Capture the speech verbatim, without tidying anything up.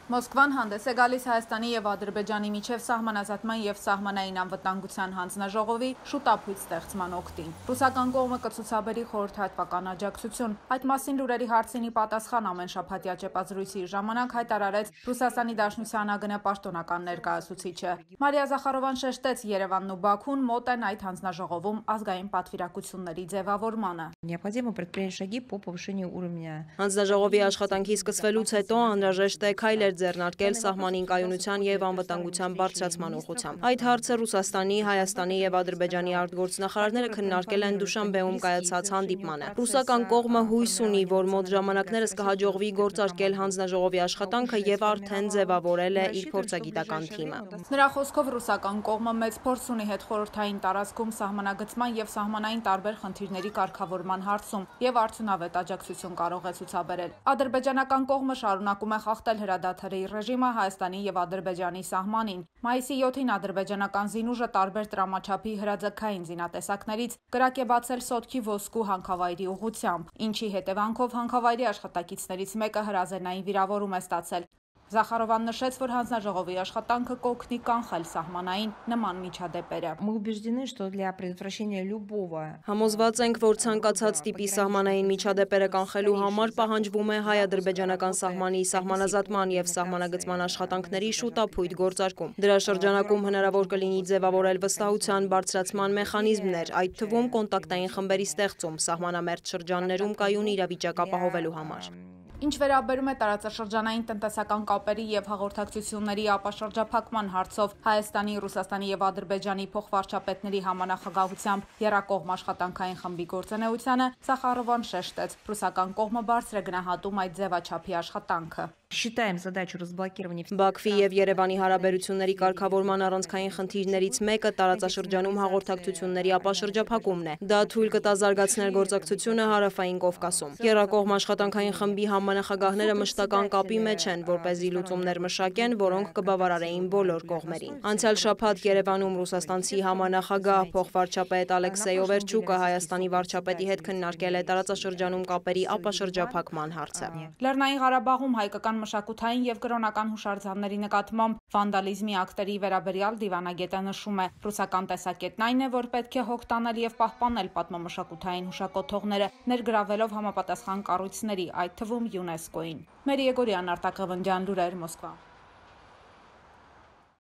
Մոսկվան հանդես է գալիս Հայաստանի և Ադրբեջանի միջև սահմանազատման և սահմանային անվտանգության հանձնաժողովի շուտափույթ ստեղծման օգտին։ Ռուսական կողմը կցուցաբերի խորհրդատվական աջակցություն։ Այդ մասին լուրերի հարցինի պատասխան ամենշաբաթյա ճեպազրույցի ժամանակ հայտարարեց Ռուսաստանի Դաշնության ԱԳՆ պաշտոնական ներկայացուցիչը։ Մարիա Զախարովան շեշտեց, Երևանն ու Բաքուն մոտ են այդ հանձնաժողովում ազգային պատվիրակությունների ձևավորմանը։ Необходимо предпринять шаги по повышению уровня. Հանձնաժողովի աշխատանքի սկսվելուց հետո անհրաժեշտ է քայլեր ձեռնարկել սահմանին կայունության և անվտանգության բարձրացման ուղղությամբ։ Այդ հարցը Ռուսաստանի, Հայաստանի և Ադրբեջանի արտգործնախարարները քննարկել են Դուշանբեում կայացած հանդիպմանը։ Ռուսական կողմը հույս ունի, որ մոտ ժամանակներս կհաջողվի գործարկել հանձնաժողովի աշխատանքը և արդեն ձևավորել է իր փորձագիտական թիմը։ Նրա խոսքով ռուսական կողմը մեծ փորձ ունի հետխորհրդային տարածքում սահմանագծման և սահմանային տարբեր խնդիրների կարգավորման հարցում և արդյունավետ աջակցություն կարող է ցուցաբերել։ Ադրբեջանական կողմը շարունակում է խախտել հրադադարի ռեժիմը Հայաստանի և Ադրբեջանի սահմանին։ Մայիսի յոթին ադրբեջանական զինուժը տարբեր տրամաչափի հրաձգային զինատեսակներից կրակ է բացել Սոտքի ոսկու հանքավայրի ուղղությամբ, ինչի հետևանքով հանքավայրի աշխատակիցներից մեկը հրազենային վիրավորում է ստացել։ Զախարովան նշեց, որ հանձնաժողովի աշխատանքը կօգնի կանխել սահմանային նման միջադեպերը։ Мы убеждены, что для предотвращения любого Համոզված ենք, որ ցանկացած տիպի սահմանային միջադեպերը կանխելու համար պահանջվում է հայ-ադրբեջանական սահմանի սահմանազատման և սահմանագծման աշխատանքների շուտափույթ գործարկում։ Դրա շրջանակում հնարավոր կլինի ձևավորել վստահության բարձրացման մեխանիզմներ, այդ թվում կոնտակտային խմբերի ստեղծում սահմանամերձ շրջաններում կայուն իրավիճակ ապահովելու համար։ Ինչ վերաբերում է տարածաշրջանային տնտեսական կապերի և հաղորդակցությունների ապաշրջափակման հարցով Հայաստանի, Ռուսաստանի և Ադրբեջանի փոխվարչապետների համանախագահությամբ եռակողմ աշխատանքային խմբի գործունեությանը, Զախարովան շեշտեց, ռուսական կողմը բարձր է գնահատում այդ ձևաչափի աշխատանքը։ Считаем задачу разблокирования. Բաքվի և Երևանի հարաբերությունների կարգավորման առանցքային խնդիրներից մեկը տարածաշրջանում հաղորդակցությունների ապաշրջափակումն է։ Դա թույլ կտա զարգացնել գործակցությունը Հարավային Կովկասում։ Եռակողմ աշխատանքային խմբի համանախագահները մշտական կապի մեջ են, որպեսզի լուծումներ մշակեն, որոնք կբավարարեին բոլոր կողմերին։ Անցյալ շաբաթ Երևանում ռուսաստանցի համանախագահ փոխվարչապետ Ալեքսեյ Օվերչուկը Հայաստանի վարչապետի հետ քննարկել է տարածաշրջանում կապերի ապաշրջափակման հարցը։ Լեռնային Ղարաբաղում հայկական մշակութային և կրոնական հուշարձանների նկատմամբ վանդալիզմի ակտերի վերաբերյալ դիվանագետը նշում է. ռուսական տեսակետն այն է, որ պետք է հոգ տանել և պահպանել պատմամշակութային հուշակոթողները, ներգրավելով համապատասխան կառույցների, այդ թվում ՅՈՒՆԵՍԿՕ-ին։ Մերի Եգորյան, Արտակ Ղևոնդյան, լուրեր, Մոսկվա։